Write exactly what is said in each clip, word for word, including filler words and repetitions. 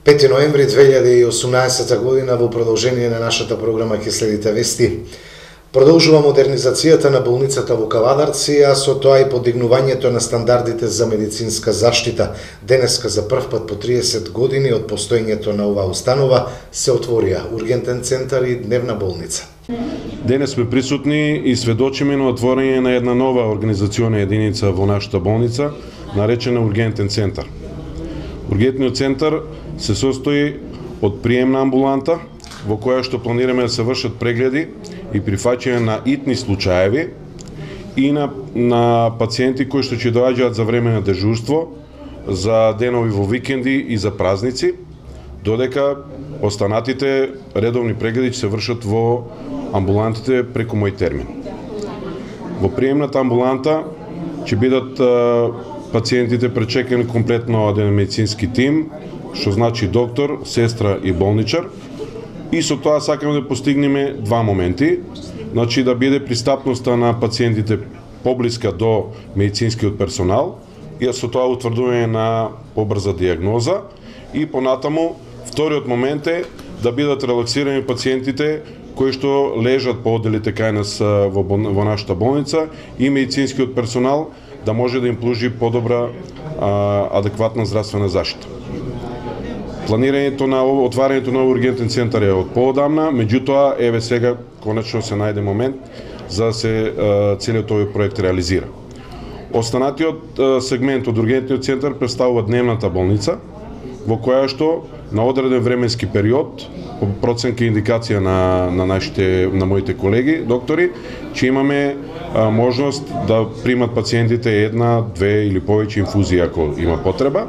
пети ноември две илјади и осумнаесета година, во продолжение на нашата програма ќе следите вести. Продолжува модернизацијата на болницата во Кавадарци, а со тоа и подигнувањето на стандардите за медицинска заштита. Денеска за прв пат по триесет години од постоењето на оваа установа се отворија ургентен центар и дневна болница. Денес сме присутни и сведочиме на отворање на една нова организациона единица во нашата болница, наречена ургентен центар. Ургентниот центар се состои од приемна амбуланта, во која што планираме да се вршат прегледи и прифаќање на итни случаеви и на, на пациенти кои што ќе доаѓаат за време на дежурство, за денови во викенди и за празници, додека останатите редовни прегледи ќе се вршат во амбулантите преку мој термин. Во приемната амбуланта ќе бидат а, пациентите пречекани комплетно од еден медицински тим, што значи доктор, сестра и болничар. И со тоа сакаме да постигнеме два моменти, значи да биде пристапноста на пациентите поблиска до медицинскиот персонал и со тоа утврдување на побрза диагноза и понатаму вториот момент е да бидат релаксирани пациентите кои што лежат по одделите кај нас во, во нашата болница и медицинскиот персонал да може да им пружи подобра а, адекватна здравствена заштита. Планирањето на отварањето на ургентен центар е од поодамна, меѓутоа еве сега конечно се најде момент за да се целиот овој проект реализира. Останатиот сегмент од ургентниот центар представува дневната болница, во која што на одреден временски период, по проценка и индикација на, на нашите, на моите колеги, доктори, че имаме а, можност да примат пациентите една, две или повеќе инфузии ако има потреба,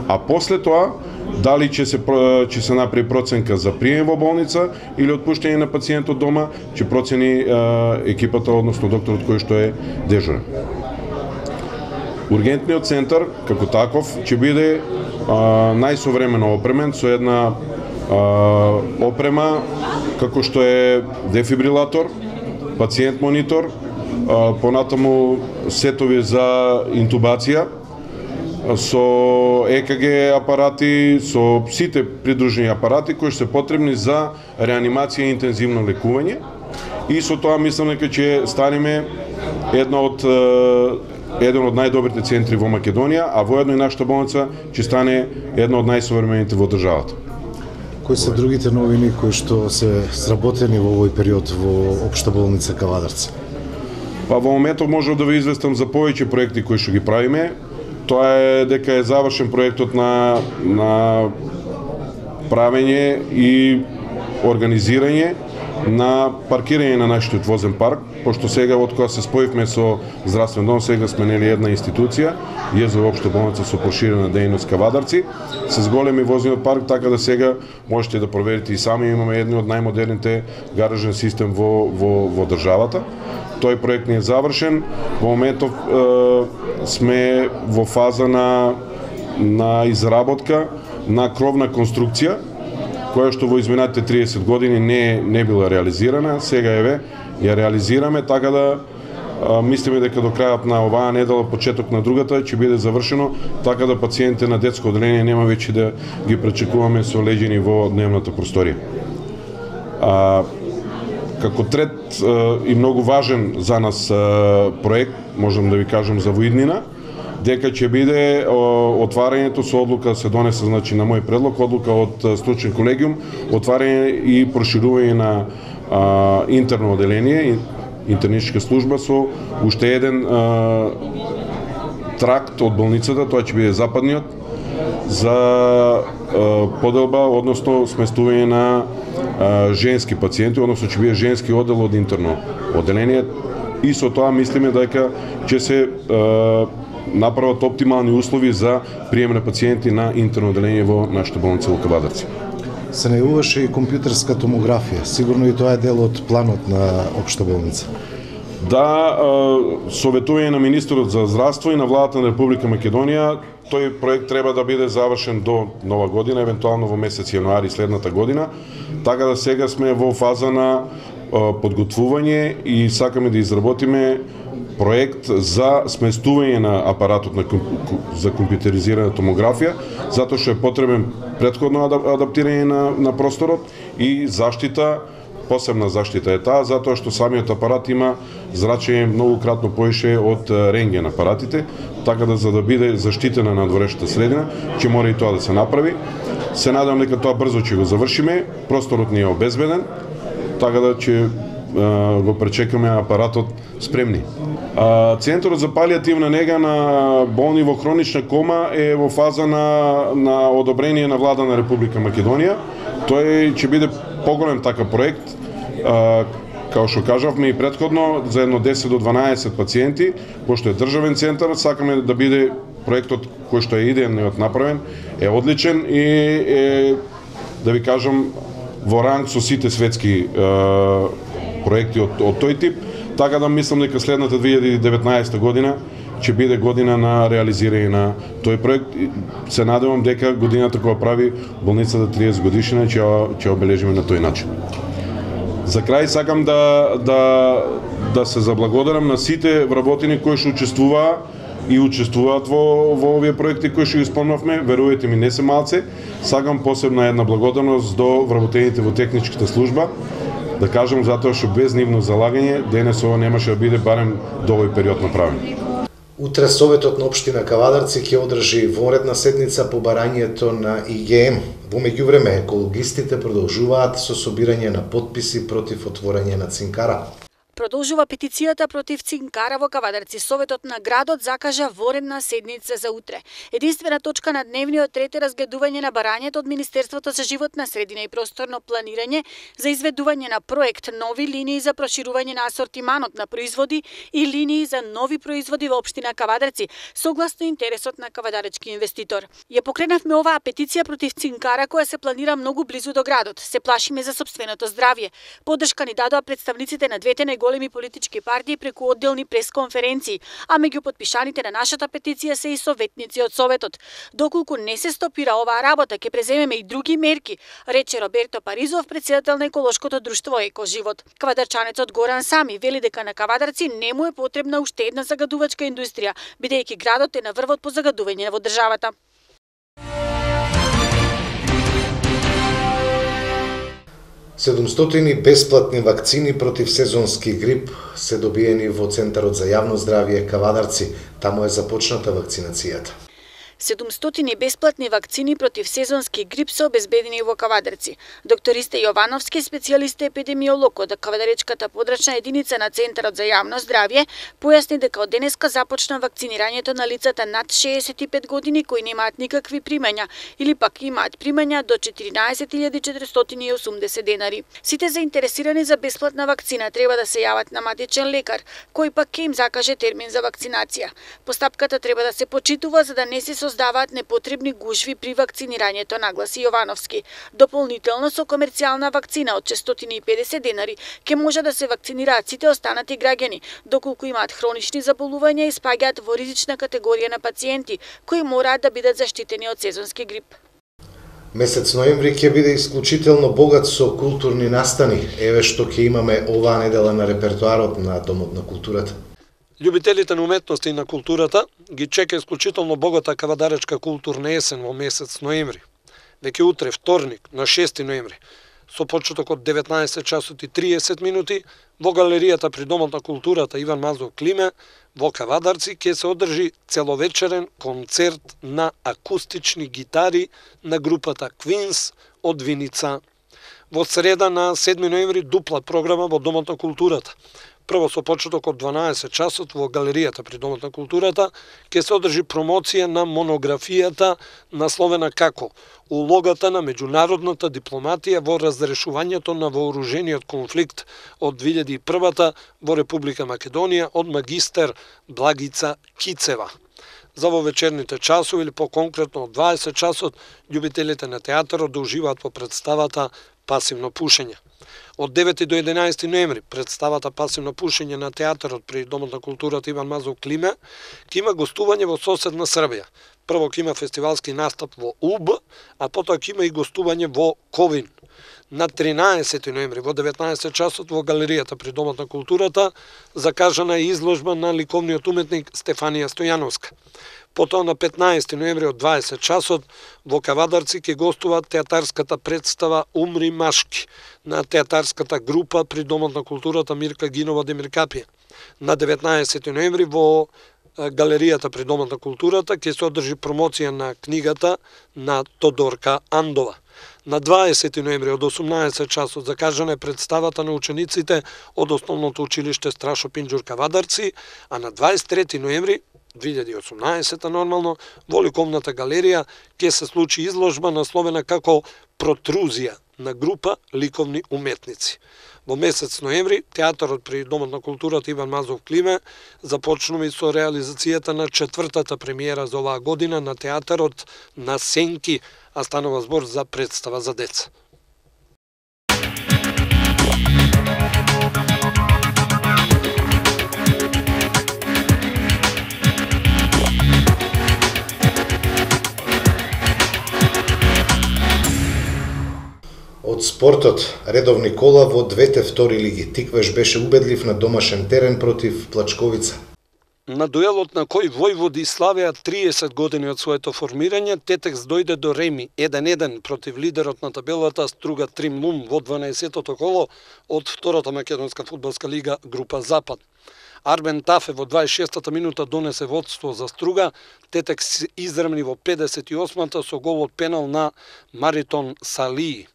а после тоа дали ќе се ќе се направи проценка за прием во болница или отпуштање на пациентот дома, ќе процени а, екипата, односно докторот кој што е дежурен. Ургентниот центар како таков ќе биде а, најсовремено опремен со една а, опрема како што е дефибрилатор, пациент монитор, а, понатаму сетови за интубација, со Е К Г апарати, со сите придружени апарати кои се потребни за реанимација и интензивно лекување. И со тоа мислам дека ќе станеме една од еден од најдобрите центри во Македонија, а воедно и нашата болница ќе стане една од најсовремените во државата. Кои се другите новини кои што се сработени во овој период во Општа болница Кавадарци? Па во моментов можам да ви известам за повеќе проекти кои што ги правиме. Тоа е дека е завршен проектот на, на правење и организирање на паркирање на нашиот возен парк, пошто сега од кога се споивме со здравствен дом, сега сме нели една институција, ЈЕЗО Општа болница со проширена дејност Кавадарци, се зголеми возниот парк, така да сега можете да проверите и сами, имаме едни од најмодерните гаражен систем во, во, во државата. Тој проект не е завршен. Во моментов е, сме во фаза на, на изработка на кровна конструкција, која што во изминатите триесет години не, не била реализирана. Сега еве ја реализираме, така да а, мислиме дека до крајот на оваа недела, почеток на другата, ќе биде завршено, така да пациентите на детско одделение нема веќе да ги пречекуваме со леѓени во дневната просторија. А, Како трет и многу важен за нас проект, можам да ви кажам за воиднина, дека ќе биде отварањето со одлука се донесе, значи на мој предлог, одлука од стручен колегиум, отварање и проширување на а, интерно одделение, интерничка служба со уште еден а, тракт од болницата, тоа ќе биде западниот, за а, поделба, односно сместување на а, женски пациенти, односно ќе биде женски оддел од интерно одделение, и со тоа мислиме дека ќе се а, направат оптимални услови за прием на пациенти на интерно одделение во нашата болница во Кавадарци. Се најавуваше и компјутерска томографија. Сигурно и тоа е дел од планот на Општа болница. Да, советување на министерот за здравство и на владата на Република Македонија, тој проект треба да биде завршен до нова година, евентуално во месец јануари следната година, така да сега сме во фаза на подготвување и сакаме да изработиме проект за сместување на апаратот на за компјутеризирана томографија, затоа што е потребен претходно адаптирање на, на просторот и заштита, посебна заштита е таа, затоа што самиот апарат има зрачење многу кратно поише од рентген апаратите, така да за да биде заштитена надворешната средина, ќе мора и тоа да се направи. Се надевам дека тоа брзо ќе го завршиме, просторот ни е обезбеден, така да ќе го пречекаме апаратот спремни. Центарот за палијативна нега на болни во хронична кома е во фаза на, на одобрение на влада на Република Македонија. Тој ќе биде поголем така проект, као што кажавме и претходно, за едно десет до дванаесет пациенти, пошто е државен центар, сакаме да биде проектот кој што е идејно направен, е одличен и е, да ви кажам, во ранг со сите светски е, проекти од, од тој тип, така да мислам дека следната две илјади и деветнаесета година ќе биде година на реализирање на тој проект. Се надевам дека годината кога прави болницата триесет годишнина ќе ќе обележиме на тој начин. За крај сакам да да да се заблагодарам на сите вработени кои што учествуваа и учествуваат во во овие проекти кои што ги спомнавме, верувајте ми, не се малце. Сакам посебна една благодарност до вработените во техничката служба, да кажам затоа што без нивно залагање денес ова немаше да биде барем до овој период направен. Утре Советот на општина Кавадарци ќе одржи вонредна седница по барањето на И Ге Ем. Во меѓувреме екологистите продолжуваат со собирање на потписи против отворање на цинкара. Продолжува петицијата против цинкара во Кавадарци. Советот на градот закажа воредна седница за утре. Единствена точка на дневниот ред е разгледување на барањето од Министерството за животна средина и просторно планирање за изведување на проект нови линии за проширување на асортиманот на производи и линии за нови производи во општина Кавадарци, согласно интересот на кавадаречки инвеститор. Ја покренавме оваа петиција против цинкара која се планира многу близу до градот. Се плашиме за сопственото здравје. Поддршка ни дадоа представниците на двете големи политички партии преку одделни пресконференции, а меѓу потпишаните на нашата петиција се и советници од Советот. Доколку не се стопира оваа работа, ќе преземеме и други мерки, рече Роберто Паризов, председател на еколошкото друштво Екоживот. Кавадарчанецот Горан Сами вели дека на Кавадарци не му е потребна уште една загадувачка индустрија, бидејќи градот е на врвот по загадување во државата. седумстотини бесплатни вакцини против сезонски грип се добиени во Центарот за јавно здравје Кавадарци. Таму е започната вакцинацијата. седумстотини бесплатни вакцини против сезонски грип се обезбедени во Кавадарци. Доктор Исте Јовановски, специјалист епидемиолог од Кавадаречката подрачна единица на Центарот за јавно здравје, појасни дека од денеска започна вакцинирањето на лицата над шеесет и пет години кои немаат никакви примања или пак имаат примања до четиринаесет илјади четиристотини и осумдесет денари. Сите заинтересирани за бесплатна вакцина треба да се јават на матичен лекар, кој пак ќе им закаже термин за вакцинација. Постапката треба да се почитува за да не се создаваат непотребни гужви при вакцинирањето, нагласи Јовановски. Дополнително со комерцијална вакцина од шестстотини и педесет денари ќе може да се вакцинираат сите останати граѓани, доколку имаат хронични заболувања и спаѓаат во ризична категорија на пациенти кои мораат да бидат заштитени од сезонски грип. Месец ноември ќе биде исклучително богат со културни настани. Еве што ќе имаме оваа недела на репертоарот на Домот на културата. Љубителите на уметноста и на културата ги чека исклучително богата кавадаречка културна есен во месец ноември. Веќе утре, вторник, на шести ноември, со почеток од деветнаесет часот и триесет минути, во галеријата при Домот на културата Иван Мазов Климе во Кавадарци ќе се одржи целовечерен концерт на акустични гитари на групата Квинс од Виница. Во среда на седми ноември дупла програма во Домот на културата. Прво со почеток од дванаесет часот во галеријата при Домот на културата ќе се одржи промоција на монографијата насловена како улогата на меѓународната дипломатија во разрешувањето на вооружениот конфликт од две илјади и прва во Република Македонија од магистер Благица Кицева. За во вечерните часови или по-конкретно од дваесет часот љубителите на театарот да уживаат во представата Пасивно пушење. Од девети до единаесети ноември представата Пасивно пушење на театарот при Домот на културата Иван Мазов Климе ќе има гостување во соседна Србија. Прво ќе има фестивалски настап во Уб, а потоа ќе има и гостување во Ковин. На тринаесети ноември во деветнаесет часот во галеријата при Домот на културата закажана е изложба на ликовниот уметник Стефанија Стојановска. Потоа на петнаесети ноември од дваесет часот во Кавадарци ќе гостува театарската представа Умри машки на театарската група при Домот на културата Мирка Гинова Демиркапија. На деветнаесети ноември во галеријата при Домот на културата ќе се одржи промоција на книгата на Тодорка Андова. На дваесети ноември од осумнаесет часот закажана е представата на учениците од Основното училиште Страшо Пинџур Кавадарци, а на дваесет трети ноември две илјади и осумнаесета нормално во ликовната галерија ќе се случи изложба насловена како Протрузија на група ликовни уметници. Во месец ноември театарот при Домот на културата Иван Мазов Климе започнува и со реализацијата на четвртата премиера за оваа година на театарот на Сенки, а станува збор за представа за деца. Од спортот, редовни кола во двете втори лиги. Тиквеш беше убедлив на домашен терен против Плачковица. На дуелот на кој Војводи славеа триесет години од своето формирање, Тетекс дојде до реми еден еден против лидерот на табелата Струга Тримлум во дванаесеттото коло од втората македонска фудбалска лига група Запад. Арбен Тафе во дваесет и шестата минута донесе водство за Струга, Тетекс изравни во педесет и осмата со гол од пенал на Маритон Салии.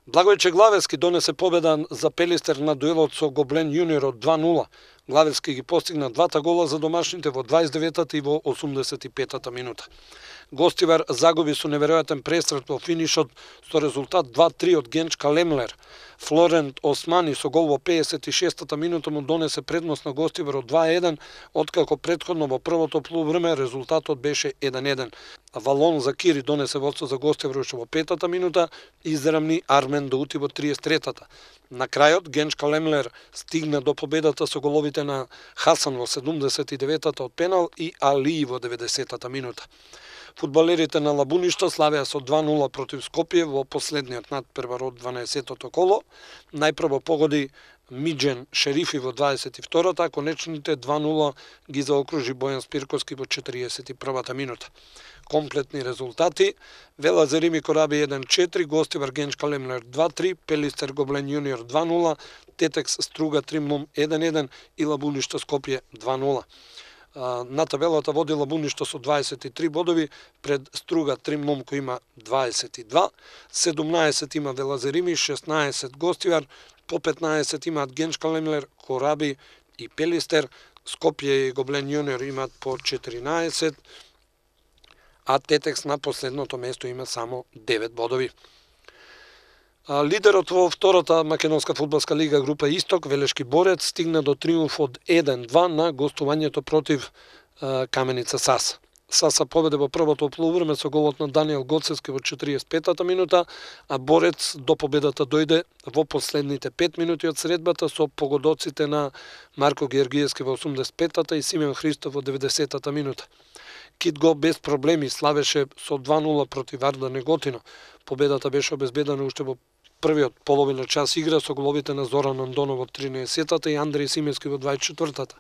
Благојче Главевски донесе победа за Пелистер на дуелот со Гоблен Јуниор од два нула. Главевски ги постигна двата гола за домашните во дваесет и деветата и во осумдесет и петата минута. Гостивар загуби со неверојатен пресрет во финишот со резултат два три од Генчка Лемлер. Флорент Османи со гол во педесет и шестата минута му донесе предност на Гостивар од два еден, откако претходно во првото полувреме резултатот беше еден еден. Валон Закири донесе водство за Гостивар уште во петата минута, изравни Армен Даути во триесет и третата. На крајот Генчка Лемлер стигна до победата со головите на Хасан во седумдесет и деветата од пенал и Али во деветдесетата минута. Фудбалерите на Лабуништа славеа со два нула против Скопје во последниот надпревар од дванаесеттото коло. Најпрво погоди Миџен Шерифи во дваесет и втората, а конечните два нула ги заокружи Бојан Спирковски во четириесет и првата минута. Комплетни резултати: Велазерими Кораби еден четири, Гостивар Генчка Лемлер два три, Пелистер Гоблен Јуниор два нула, Тетекс Струга Тримлум еден еден и Лабуништа Скопје два нула. На табелата води Лабуништа со дваесет и три бодови, пред Струга Тримлум кој има дваесет и два, седумнаесет има Велазерими, шеснаесет Гостивар, по петнаесет имаат Генчка Лемлер, Кораби и Пелистер, Скопје и Гоблен Јуниор имаат по четиринаесет, а Тетекс на последното место има само девет бодови. Лидерот во втората македонска фудбалска лига група Исток, Велешки Борец, стигна до триумф од еден два на гостувањето против Каменица Саса. Саса победе во првото полувреме со голот на Даниел Гоцевски во четириесет и петата минута, а Борец до победата дојде во последните пет минути од средбата со погодоците на Марко Георгиевски во осумдесет и петата и Симеон Христов во деветдесетата минута. Китго без проблеми славеше со два нула против Арда Неготино. Победата беше обезбедена уште во првиот половина час игра со головите на Зоран Андонов во тринаесеттата и Андреј Симески во дваесет и четвртата.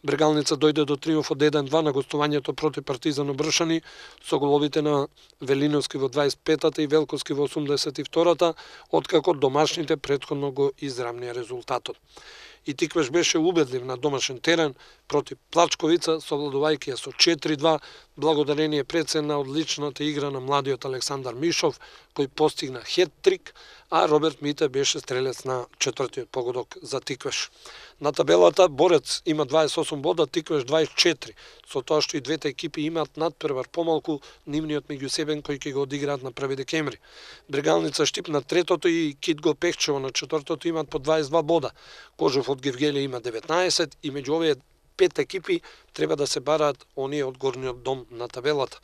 Брегалница дојде до триумф од еден два на гостувањето против Партизан Обршани со головите на Велиновски во дваесет и петата и Велковски во осумдесет и втората, откако домашните претходно го израмнија резултатот. И Тиквеш беше убедлив на домашен терен против Плачковица, совладувајќи ја со четири два, благодарение пред се на одличната игра на младиот Александар Мишов, кој постигна хет-трик, а Роберт Мите беше стрелец на четвртиот погодок за Тиквеш. На табелата Борец има дваесет и осум бода, Тиквеш дваесет и четири, со тоа што и двете екипи имаат надпревар помалку, нивниот меѓусебен кој ќе го одиграат на први декември. Брегалница Штип на третото и Китго Пехчево на четвртото имаат по дваесет и два бода. Кожев од Гевгелија има деветнаесет и меѓу овие пет екипи треба да се бараат оние од горниот дом на табелата.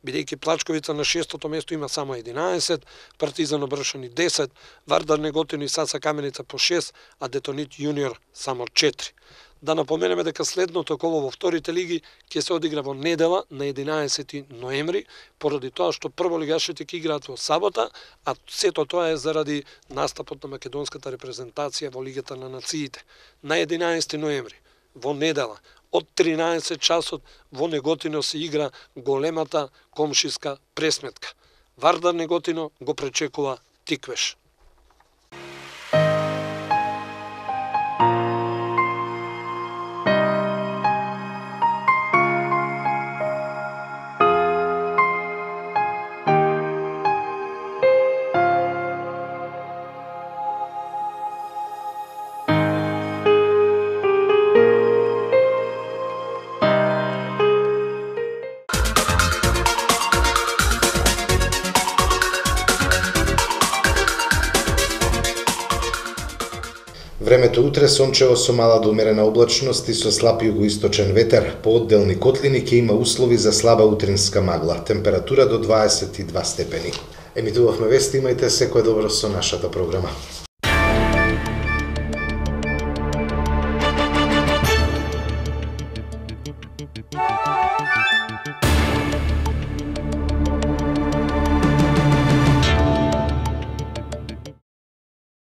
Бидејќи Плачковица на шестото место има само единаесет, Партизан Обршани десет, Вардар Неготино и Саса Каменица по шест, а Детонит Јуниор само четири. Да напоменеме дека следното коло во вторите лиги ќе се одигра во недела на единаесети ноември, поради тоа што прволигашите ќе играат во сабота, а сето тоа е заради настапот на македонската репрезентација во Лигата на нациите. На единаесети ноември, во недела, од тринаесет часот во Неготино се игра големата комшиска пресметка. Вардар Неготино го пречекува Тиквеш. Времето утре сончево со мала до умерена облачност и со слаб југоисточен ветер. По одделни котлини ќе има услови за слаба утринска магла. Температура до дваесет и два степени. Емитувавме вести, имајте секое добро со нашата програма. Thank you.